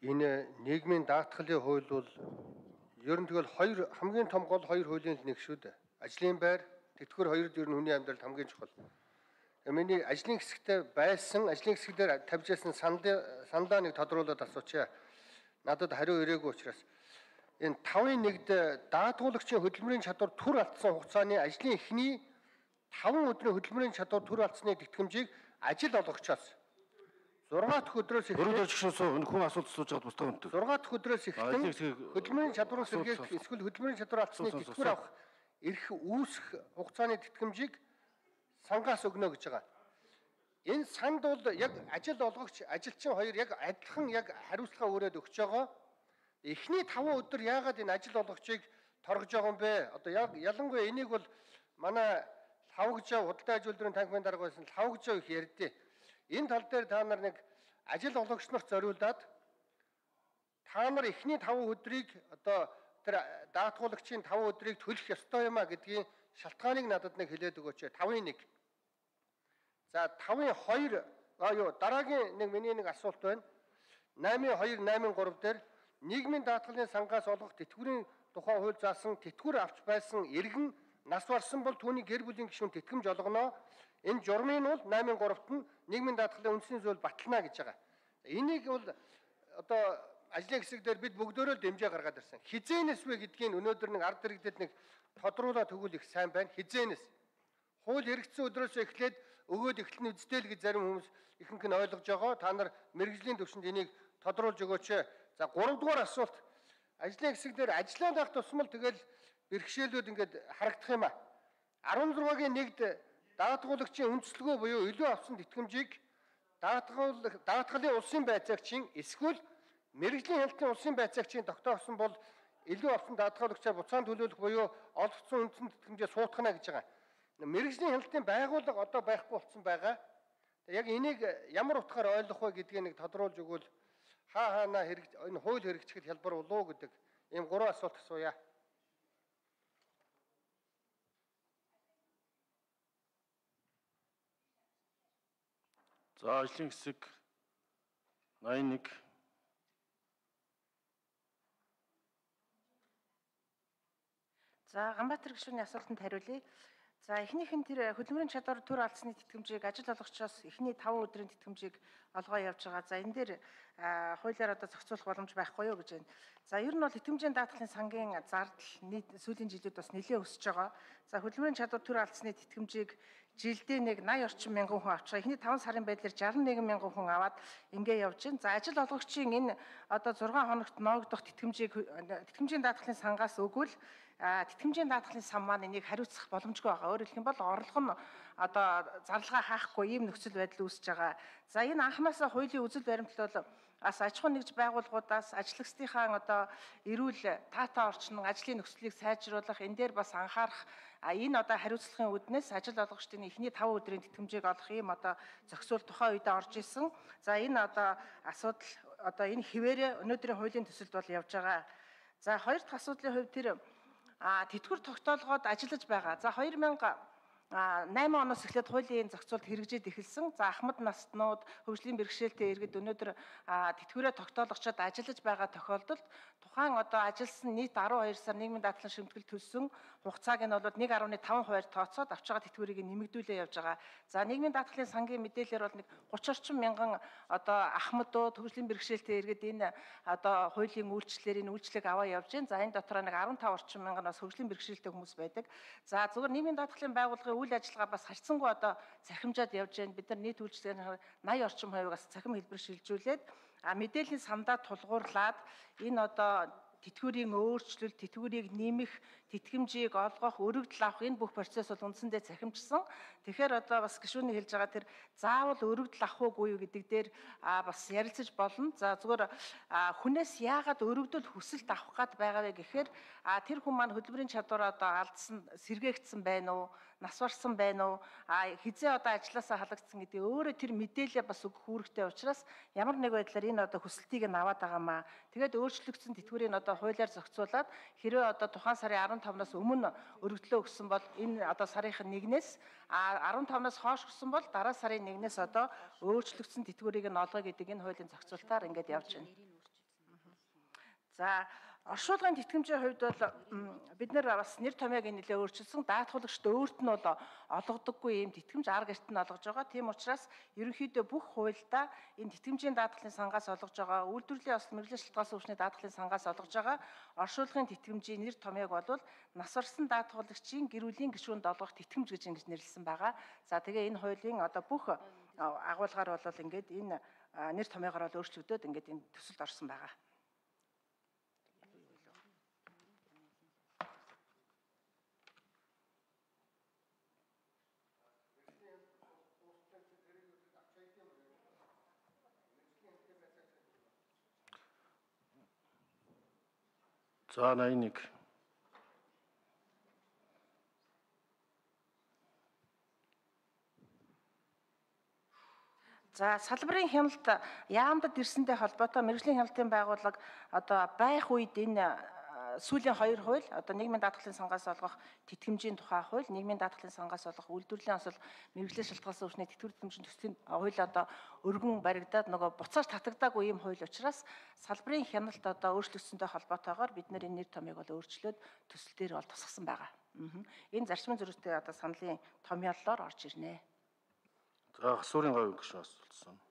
Энэ нийгмийн даатгалын хууль бол ер нь тэгэл хамгийн том гол хоёр хуулийн нэг шүү дээ. Ажлын байр, тэтгэвэр хоёрд ер нь хүний амьдралд хамгийн чухал. Миний ажлын хэсэгтээ байсан, ажлын хэсэг дээр тавьж байсан сандаа нэг тодруулаад асуучаа. Надад хариу ирээгүй учраас энэ 5-1-д даатгуулагчийн хөдөлмөрийн чадвар түр алдсан хугацааны ажлын эхний 5 өдрийн хөдөлмөрийн чадвар түр алдсны тэтгэмжийг ажил олгогчоос 6 дахь өдрөөс эхлээд хүн асуулт асууж байгаад бусдаа өнтөг. 6 дахь өдрөөс эхлэн хөдөлмөрийн чадвар сэргээх эсвэл хөдөлмөрийн чадвар алдсны тэтгэвэр авах эрх үүсэх хугацааны тэтгэмжийг сангаас өгнө гэж байгаа. Энэ санд бол яг ажил олгогч, ажилчин хоёр яг адилхан яг хариуцлага өрөөд өгч байгаа. Эхний 5 өдөр яагаад энэ ажил олгогчийг торгож байгаа юм бэ? Одоо яг ялангуяа энийг бол манай лавгжаа худалдаа аж үйлдвэрийн танхимын дарга байсан лавгжаа их ярьдээ. Энэ тал дээр та нар нэг ажил олгогч нарт зориулаад та нар эхний 5 өдрийг одоо тэр даатгуулагчийн 5 өдрийг төлөх ёстой юм а гэдгийн шалтгааныг надад нэг хэлээд өгөөч. 5-1. За 5-2 дараагийн нэг миний нэг асуулт байна. 8-2, 8-3 дээр нийгмийн даатгалын сангаас олгох тэтгэврийн тухай хууль заасан тэтгэвэр авч байсан иргэн нас барсан бол түүний гэр бүлийн гишүүн тэтгэмж олгоно. Энэ журмын бол 8-3-т нь нийгмийн даатгалын үндсийн зүйл батлана гэж байгаа. Энийг бол одоо ажлын хэсэг дээр бид бүгдөө л дэмжээ гаргаад ирсэн. Хизээнэс вэ гэдгийг өнөөдөр нэг ард иргэдэд нэг тодруулаад өгвөл их сайн байна. Хизээнэс. Хууль хэрэгжсэн өдрөөс эхлээд өгөөд эхлэн үздэй л гэж зарим хүмүүс ихэнх нь ойлгож байгаа. Та нар мэрэгжлийн төвшөнд энийг тодруулж өгөөч. За 3 дугаар асуулт. Ажлын хэсэг дээр ажиллаад байх тусмал тэгэл бэрхшээлүүд ингээд харагдах юм а. 16-гийн 1-д даатгуулагчийн үндэслэгөө буюу илүү авсан тэтгэмжийг даатгалын улсын байцаагчийн эсвэл мэрэгжлийн хяналтын улсын байцаагчийн тогтоосон бол илүү авсан даатгуулагчаар буцаан төлөвлөх буюу олгогдсон үндсэн тэтгэмжээ суутгана гэж байгаа. Мэрэгжлийн хяналтын байгууллага одоо байхгүй болсон байгаа. Яг энийг ямар утгаар ойлгох вэ гэдгийг нэг тодруулж өгвөл хаана энэ хууль хэрэгжих хялбар болов уу гэдэг ийм 3 асуулт асууя. За ажлын хэсэг 81. За Ганбаатар гишүүний асуултанд хариулъя. За эхнийх нь тэр хөдөлмөрийн чадвар төр алдсны тэтгэмжийг ажил олгогчоос эхний 5 өдрийн тэтгэмжийг олгоо явж байгаа. За энэ дээр хуулиар одоо зохицуулах боломж байхгүй юу гэж байна. За ер нь бол тэтгэмжийн даатгалын сангийн зардал сүүлийн жилүүд бас нэлээд өсөж байгаа. За хөдөлмөрийн чадвар төр алдсны тэтгэмжийг жилдээ нэг 80 орчим мянган хүн авч байгаа. Эхний 5 сарын байдлаар 61 мянган хүн аваад ингээ явж байна. За ажил олгогчийн энэ одоо 6 хоногт ноогдох тэтгэмжийн даатгалын сангаас өгвөл тэтгэмжийн даатгалын сан маань энийг хариуцах боломжгүй байгаа. Өөрөөр хэлэх юм бол орлого нь одоо зарлага хаахгүй ийм нөхцөл байдал үүсэж байгаа. За энэ анхнаасаа хуулийн үзэл баримтлал бол аж ахуй нэгж байгууллагуудаас ажиллагчдынхаа одоо эрүүл таатай орчин ажлын нөхцөлийг сайжруулах энэ дээр бас анхаарах энэ одоо хариуцлагын үүднээс ажил олгогчдын эхний 5 өдрийн тэтгэмжийг олох ийм одоо зохицуул тухайн үедээ орж исэн. За энэ одоо асуудал одоо энэ хിവэрэ өнөөдрийн хуулийн төсөлд бол явж байгаа. За хоёр дахь асуудлын хувьд тэр тэтгэвэр тогтоолгоод ажиллаж байгаа. За 2008 оноос эхлээд хуулийн зохицуулт хэрэгжиж эхэлсэн. За ахмад настнууд, хөгжлийн бэрхшээлтэй иргэд өнөөдөр тэтгэврээ тогтоологчдод ажиллаж байгаа тохиолдолд тухайн одоо ажилласан нийт 12 сар нийгмийн даатгалын шимтгэл төлсөн хугацааг нь бол 1.5% тооцоод авч байгаа тэтгэврийг нэмэгдүүлээ явж байгаа. За нийгмийн даатгалын сангийн мэдээлэлээр бол нэг 30 орчим мянган одоо ахмадууд, хөгжлийн бэрхшээлтэй иргэд энэ одоо хуулийн үйлчлэлээр энэ үйлчлэг аваа явж байна. За энэ дотор нэг 15 орчим мянган бас хөгжлийн бэрхшээлтэй хүмүүс байдаг. За зөвхөн нийгмийн даатгалын байгууллагын үйл ажиллагаа бас харьцангуй одоо цахимжаад явж байна. Бид нар нийт үйлчлэгийн 80 орчим хувийг бас цахим хэлбэр шилжүүлээд мэдээллийн сандаа тулгуурлаад энэ одоо тэтгэврийн өөрчлөлт, тэтгэврийг нэмэх, тэтгэмжийг олгох, өргөдөл авах энэ бүх процесс бол үндсэндээ цахимжсан. Тэгэхээр одоо бас гишүүний хэлж байгаа тэр заавал өргөдөл авах уугүй юу гэдэг дээр бас ярилцаж болно. За зүгээр хүнээс яагаад өргөдөл хүсэлт авах гад байгаа вэ гэхээр тэр хүн маань хөдөлмөрийн чадвараа одоо алдсан, сэргээгдсэн байна уу? Нас барсан байна уу? Хизээ одоо ажилласаа халагдсан гэдэг өөрөө тэр мэдээлэл бас өгөх үүрэгтэй учраас ямар нэг байдлаар энэ одоо хүсэлтийг нь аваад байгаамаа. Тэгээд өөрчлөгдсөн тэтгэврийг одоо хуулиар зохицуулаад хэрвээ одоо тухайн сарын 15-наас өмнө өргөдлөө өгсөн бол энэ одоо сарынх нь 1-ээс 15-наас хойш өгсөн бол дараа сарын 1-ээс одоо өөрчлөгдсөн тэтгэврийг нь олгоё гэдэг энэ хуулийн зохицуултаар ингээд явж байна. За оршуулгын тэтгэмжийн хувьд бол бид нэр бас нэр томьёог нэлээд өөрчилсөн. Даатгуулагчд өөрт нь бол олгодоггүй ийм тэтгэмж арга эрт нь олгож байгаа. Тийм учраас ерөнхийдөө бүх хуульдаа энэ тэтгэмжийн даатгалын сангаас олгож байгаа, үйлдвэрлэлийн осол мэргэжлийн шалтгаалсан өвчний даатгалын сангаас олгож байгаа оршуулгын тэтгэмжийн нэр томьёог бол нас барсан даатгуулагчийн гэрүүлийн гишүүнд олгох тэтгэмж гэж ингэж нэрлэсэн байгаа. За тэгээ энэ хуулийн одоо бүх агуулгаар бол ингээд энэ нэр томьёогоор бол өөрчлөгдөөд ингээд энэ төсөлд орсон байгаа. За 81. За салбарын хяналт яамдад ирсэнтэй холбоотой мэргэжлийн хяналтын байгууллага одоо байх үед энэ сүүлийн 2 хууль одоо нийгмийн даатгалын сангаас олгох тэтгэмжийн тухай хууль, нийгмийн даатгалын сангаас олгох үйлдвэрлэлийн осол мэргэжлийн шалтгаалсан өвчний тэтгэвэр тэтгэмжийн төслийн хууль одоо өргөн баригдаад нөгөө буцааж татагдаагүй ийм хууль учраас салбарын хяналт одоо өөрчлөгдсөнтэй холбоотойгоор бид нэр энэ нэр томьёог бол өөрчлөөд төсөл дээр бол тусгасан байгаа. Энэ зарчмын зөрүүтэй одоо саналын томьёоллоор орж ирнэ. За гасуурын говийн гишүүн асуулсан.